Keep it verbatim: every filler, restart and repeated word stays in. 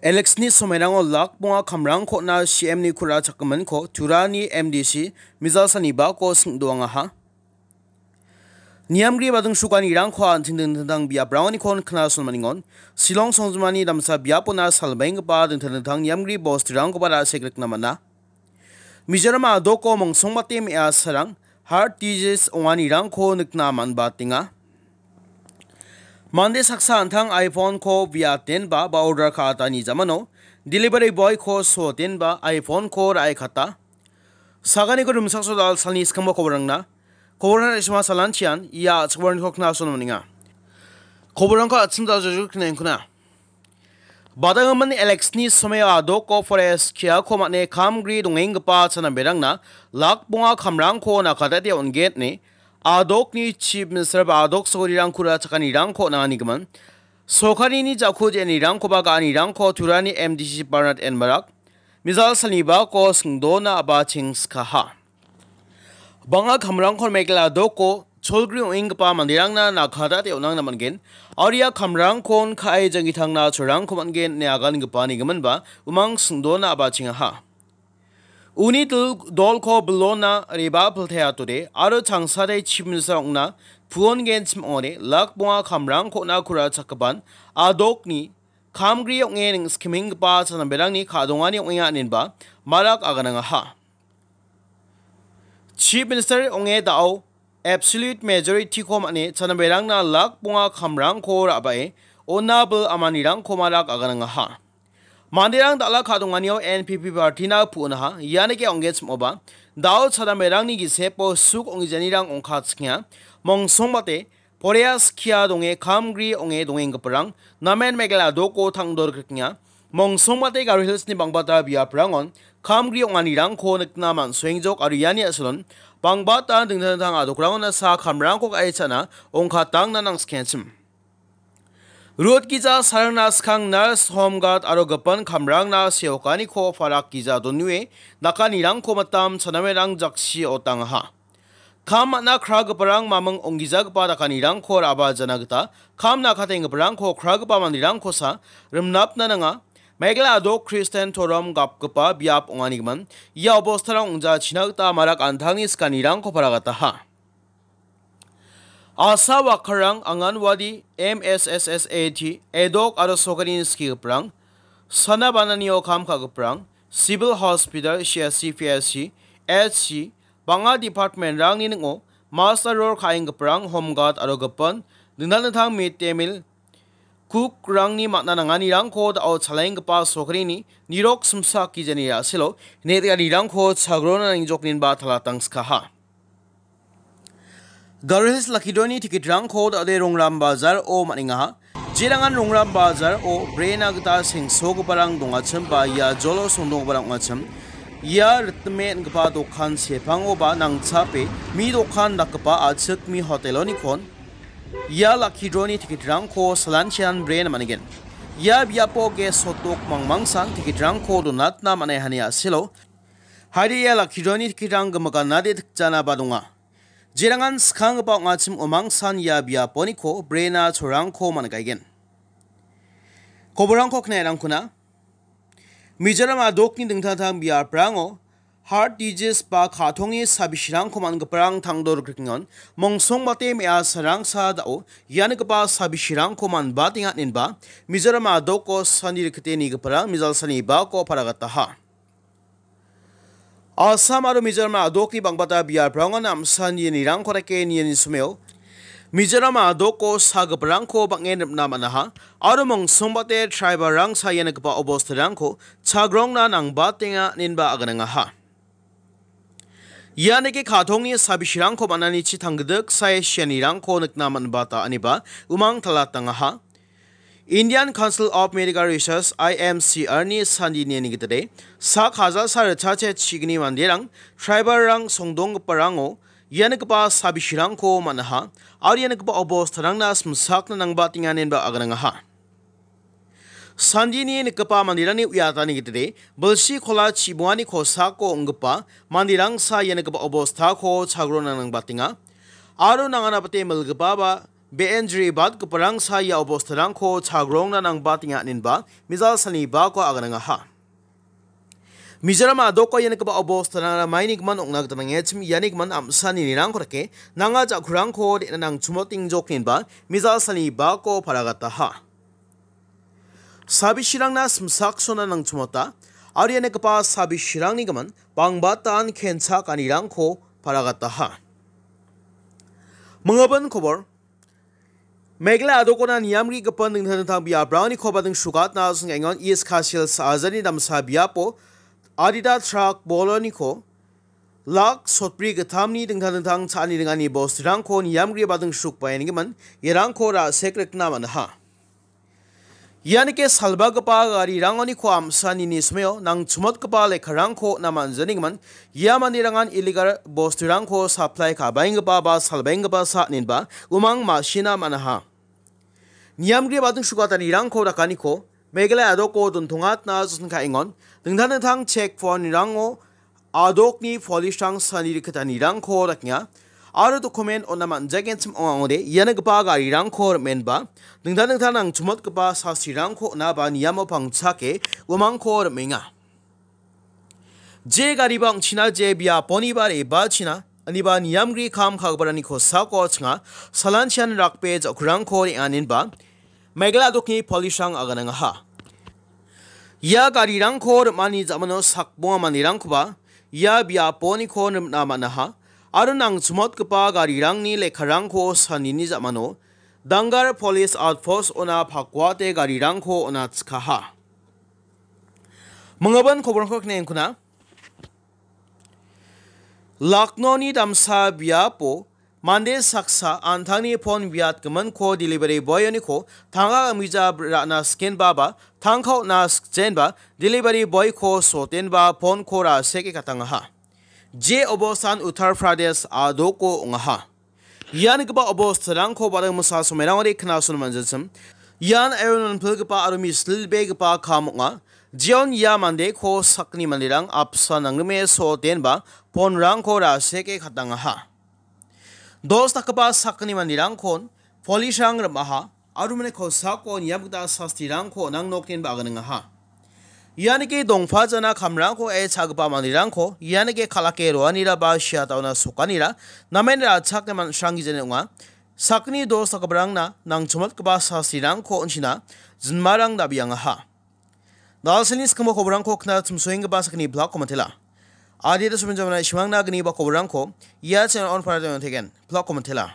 Election-ni somoirango lak bonga kamrangko on·a C M-ni kura chakgiminko Turani M D C Mijalsani bako sing·doangaha. Niamgri bading sukanirangko an·ching dingtang dingtang biaprangonikon knasonmaningon. Shillong songjinmani damsa biapona salbaenggipa dingtang dingtang niamgri bosturangkoba ra·sek rikna man·a. Mizoram a·doko mongsongbate me·asarang heart disease onganirangko nikna man·batenga. Mande saksa an·tang iPhone-ko biatenba ba order ka·atani jamano delivery boy-ko sotenba iPhone-ko ra·ekata. Saganiko rimchaksoa dal salni skangba koborangna. Koborangna isma salanchian ia a·chakbarangko knasonmaninga. Koborangko an·ching dal jojok knengkuna. Badanggimin election-ni somoio a·doko forest kiako man·e kamgri dongenggipa chanamberangna lak bonga kamrangko nakatete on·gen ine a·dokni Chief Minister ba a·dok sagorirangko ra·chakanirangko on·anganigimin. Sorkarini jako je·anirangkoba ga·anirangko Turani M D C Bernard N Marak, Mijalsani bako sing·dona a·bachengskaha. Bang·a kamrangko Meghalaya a·doko cholgri ong·enggipa manderangna nakadate on·angna man·gen. Aro ia kamrangkon ka·e janggitangna cholrangko man·gen ine agangipa nigiminba umang sing·dona a·bachengaha. Uni dol-, dolko bilona reba pilteatode aro changsade Chief Minister ong·na puongenchim ong·ode lak bonga kamrangko on·a kura chakgipan a·dokni kamgri ong·e ning·skemenggipa chanamberangni ka·dongani ong·enga inenba Marak aganangaha. Chief Minister ong·e da·o absolute majority-ko man·e chanamberangna lak bonga kamrangko ra·bae on·a bil amanirangko Marak aganangaha. Manderang dal·a ka·donganio N P P party-na pu·onaha, ianike ong·genchim ong·oba, da·o chanamberangni gisepo suk ong·gijanirang ongkatchikenga, mongsongbate poreas kia donge kamgri ong·e dongenggiparang namen Meghalaya a·doko tangdorikrikenga. Mongsongbate Garo Hills-ni bangbata biaprangon kamgri ong·anirangko nikna man·soengjok aro iani a·salon bangbata dingtang dingtang a·dokrangon a·sa kamrangko ka·e cha·na ongkatangna nangskengachim. Rut gija sarangna skang nurse, home guard aro gipin kamrangna seokaniko parak gija donue dakanirangko mitam chanamerang jaksi otangaha. Kam man·a kragiparang maming onggijagipa dakanirangko ra·bajana gita kam nakatenggiparangko kragipa manderangkosa rimnapna nanga. Meghalaya a·dok Christian torom gapgipa biap ong·anigimin ia obostarang ong·jachina gita Marak an·tangni sikanirangko paragataha. A S A wakarang, Anganwadi, M S S S A T, edok aro sorkarini skigiparang, sana bananio kam ka·giparang, Civil Hospital, C S C, P S C, H C, bang·a department-rangni ning·o master role ka·enggiparang, home guard aro gipin, dingtang dingtang mid day meal, cook-rangni man·a nanganirangko da·o chalaenggipa sorkarini nirok simsa akgijani ra·selo net·rangko chagrona nangjokninba talatangskaha. Garo Hills Lucky Draw-ni ticket-rangko da·ode Rongram Bazar-o man·engaha. Jerangan Rongram Bazar-o brena gita sengsogiparang dongachim ba ia jolo songdonggiparang ong·achim. Ia ritime on·gipa dokan sepangoba nangchape mi dokan dakgipa a·chik mi hotel-onikon ia Lucky Draw-ni ticket-rangko salanchian brena man·gen. Ia biapo ges hotdog mangmangsan ticket-rangko donatna man·aihani a·selo. Haide ia Lucky Draw-ni ticket-rang gimikanade tikjanaba donga. Jerangan skanggipa ong·achim omangsan ia biaponiko brena cholrangko man·gaigen. Koborangko knairangkuna. Mizoram a·dokni dingtang dingtang biaprango heart disease ba ka·tongni sabisirangko man·giparang tangdorikrikengon, mongsongbate me·a sarangsa da·o ianigipa sabisirangko man·batenga inenba Mizoram a·doko sandi rikite nigiparang Mijalsani bako paragataha. Assam aro Mizoram a·dokni bangbata biaprangon namsan ienirangko dake niani someo Mizoram a·doko sagiparangko bang·en ripna man·aha aro mongsongbate tribalrang saia nikgipa obostarangko chagrongna nangbatenga inenba aganangaha. Ianike ka·tongni sabisirangko man·anichi tanggidik sae sianirangko nikna man·bata ineba umang talatangaha. Indian Council of Medical Research, I M C R-ni sandi niani gitade, sak hajalsa ritchacha chigni manderang, tribalrang songdonggiparango ianigipa sabisirangko man·aha, aro ianigipa obostarangna simsakna nangbatenga inenba aganangaha. Sandini nikgipa manderangni uiatani gitade, bilsi kola chibongani kosako ong·gipa manderangsa ianigipa obostako chagrona nangbatenga, aro nanganabate milgipaba Be·en jribatgiparangsa ia obostarangko chagrongna nangbatenga aninba mijal salni bako aganangaha. Mizoram a·doko ia nikgipa obostarangara maini gimin ong·na gita nangechim iani gimin am·sa ninirangko dake nanga ja·kurangko de·na nangchimotengjok ninba mijal salni bako paragataha. Sabisirangna simsaksona nangchimota, aro ia nikgipa sabisirangni gimin bangbatan kenchakanirangko paragataha. Mingabin kobor, Meghalaya a·dokona niamgrigipa dingtang dingtang biaprangni koba dingsrugatna song·engon East Khasi Hills sajani damsa biapo adita trak boloniko lak sotbri gittamni dingtang dingtang cha·ani ringani bosturangko niamgriba dingsrukbaengimin iarangko ra·sek rikna man·aha. Ianike salbagipa garirangoniko am·sanini somao nangchimotgipa lekkarangko on·a man·janigimin ia manderangan illegal bosturangko supply ka·baenggipa ba salbaenggipa sa ninba umang ma·sina man·aha. Niamgri bading sukatanirangko dakaniko Meghalaya a·doko dontongatna josen ka·engon dingtang dingtang check pointrango a·dokni polisrang sani rikgitanirangko dakenga aro dokumen on·a man·jagenchim ong·a ong·ode ianigipa garirangko rimenba dingtang dingtang nangchimotgipa sasirangko on·a ba niamo pangchake uamangko rimenga. Je gariba ong·china je biaponiba re·bachina aniba niamgri kam ka·giparangni kosako chinga salanchian rakbe ja·kurangko re·angenba Meghalaya a·dokni polisrang aganangaha. Ia garirangko rim·ani ja·mano sakbonga manderangkoba ia biaponiko rimna man·aha aro nangchimotgipa garirangni lekkarangko sanini ja·mano Dangar Police Outpost ona pakuate garirangko ona chikaha. Mingabin koborangko kine·engkuna. Lucknow-ni damsa biapo mande saksa an·tangni pon biatgiminko delivery boy-oniko tangka gimija ra·na sikenba ba tangka on·na sikjenba delivery boy-ko sotenba pon-ko ra·seke katangaha. Je obostan Uttar Pradesh a·doko ong·aha. Ianigipa obostarangko ba·ra mingsa somairangode knasona man·jachim. Ian aro nonpilgipa aro mislilbegipa kam ong·a. Jeon ia mandeko sakgni manderang apsa nangrime sotenba ponrangko ra·seke katangaha. Dos dakgipa sakgni manderangkon polisrang rim·aha aro mane kosako niam gita sastirangko nang nokninba aganengaha. Ianike dongpajana kamrangko e cha·gipa manderangko ianike kal·ake roanira ba siataona sokanira namen ra·chakna man·sranggijani ong·a. Sakgni dos dakgiparangna nangchomotgipa sastirangko on·china jinmarang dabiangaha. Dalsani skimo koborangko kna chimsoenggipa sakgni blakko mantela. Adita somenjamna ishmangna gniba koborangko ia channel on para teng tegen blakko mantela.